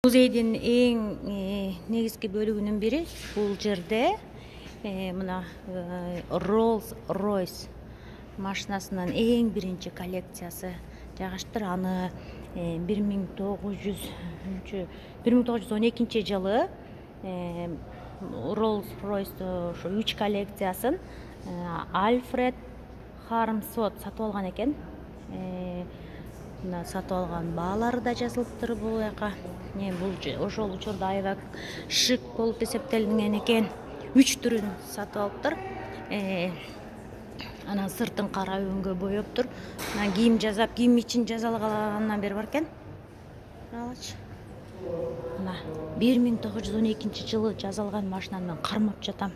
Музейдин эң негизги бөлүгүнүн бири бул жерде мына Rolls-Royce машинасынын эң биринчи коллекциясы жайгаштыр. Аны 1912 жылы Rolls-Royce ошо 3 коллекциясын Альфред Хармсворт сатып алган экен. Мына сатып алган баалары да жазылыптыр бул жака. Бул ошол учурда аябай шик болуп эсептелинген экен. 3 түрүн сатып алыптыр. Анан сыртын кара өңгө боептур. Анан кийим жасап, кийим ичин жазалгандан бери бар экен. Карагылачы. Мына 1912 жылы жазалган машинаны мен кармап жатам.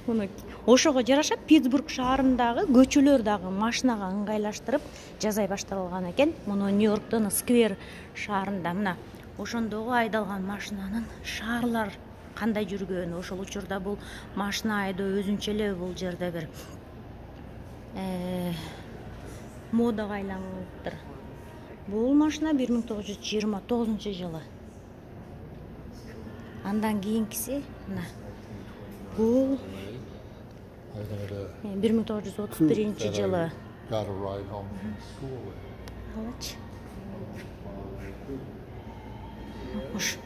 Муну ошого жараша Питтсбург шаарындагы көчөлөр дагы машинага ыңгайлаштырып жасай башталган экен. Муну Нью-Йорктун Сквер шаарында мына ошондогу айдалган машинанын шаарлар кандай жүргөн, ошол учурда бул машина айдоо өзүнчө эле бул жерде бир модага айланыптыр. Бул машина 1929 жылы. Андан кийинкиси мына бул 1931 жылы. Алачы. Ош.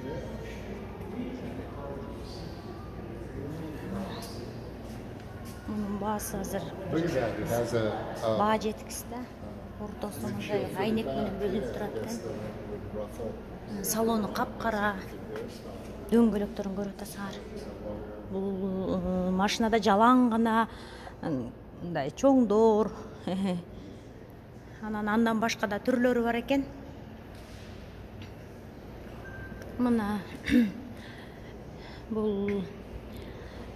Мунун баасы азыр баа жетиксиз да. Ортосу мындай айнек менен бөлүнүп турат экен. Салону капкара. Дөңгөлөктөрүн көрүп атасыңар. Бул машинада жалаң гана мындай чоңдор. Андан башка да түрлөрү бар экен. Мына бул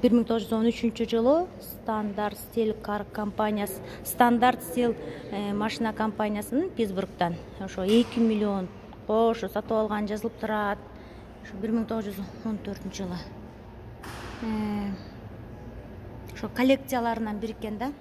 1913 жылы Стандарт Стил машина компаниясынын Питтсбургтан ошо 2 миллион ошо сатып алган жазылып турат. Ошо 1914 жылы. Ошо коллекцияларынан бир экен да.